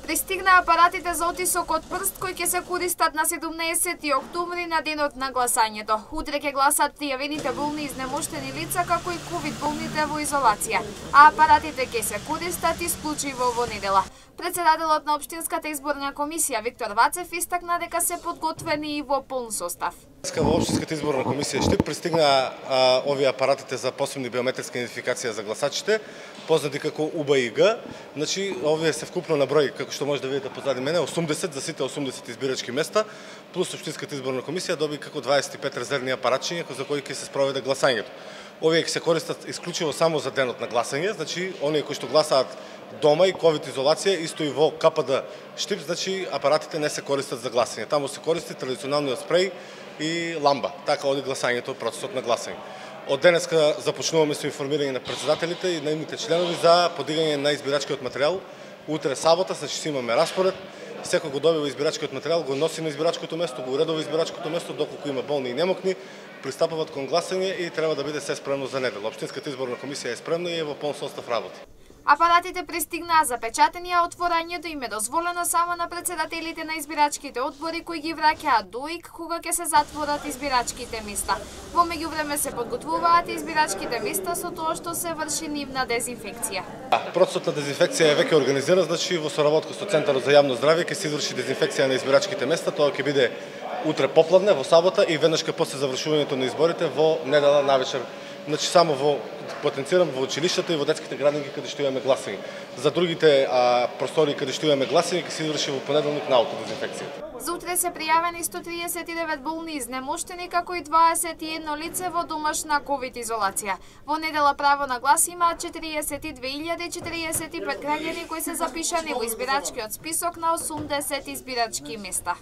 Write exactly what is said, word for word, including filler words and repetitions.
Пристигна апаратите за отисок од прст кои ќе се користат на седумнаесети октомври на денот на гласањето. Утре ќе гласат пријавените болни и изнемоштени лица како и ковид болните во изолација, а апаратите ќе се користат исклучиво во недела. Председателот на Општинската изборна комисија Виктор Вацев истакна дека се подготвени и во полн состав. Во Општинската изборна комисија Штип пристигна а, овие апаратите за посебни биометриска идентификација за гласачите, познати како У Б И Г. Значи, овие се вкупно на број, како што може да видите позади мене, осумдесет за сите осумдесет избирачки места, плюс Општинската изборна комисија доби како дваесет и пет резервни апаратчиња за кои ќе се спроведе гласањето. Овие ќе се користат исклучиво само за денот на гласање, значи оние кои што гласаат дома и ковид изолација, исто и во К П Д Штип, значи апаратите не се користат за гласање. Таму се користи традиционалниот спреј и ламба. Така оди гласањето, процесот на гласање. Од денеска започнуваме со информирање на председателите и наивните членови за подигање на избирачкиот материјал. Утре сабота, значи си имаме распоред. Секој го добива избирачкиот материјал, го носи на избирачкото место, го уредува избирачкото место, доколку има болни и немокни, пристапуваат кон гласање и треба да биде се спремно за недела. Општинската изборна комисија е спремна и е во полн состав работи. Апаратите пристигнаа запечатени, а отворањето им е дозволено само на председателите на избирачките одбори кои ги враќаат до ИК кога ќе се затворат избирачките места. Во меѓувреме се подготвуваат избирачките места со тоа што се врши нивна дезинфекција. Процесот на дезинфекција е веќе организиран, значи во соработка со Центарот за јавно здравје ќе се изврши дезинфекција на избирачките места. Тоа ќе биде утре попладне во сабота и веднаш после завршувањето на изборите во недела навечер. Значи само во потенцирам во училиштата и во детските градинки каде што имаме гласање. За другите а, простори каде што имаме гласање ќе се изврши во понеделник на аутодезинфекцијата. За утре се пријавени сто триесет и девет болни изнемоштени како и дваесет и едно лице во домашна ковид изолација. Во недела право на глас имаат четириесет и две илјади четириесет и пет граѓани кои се запишани во избирачкиот список на осумдесет избирачки места.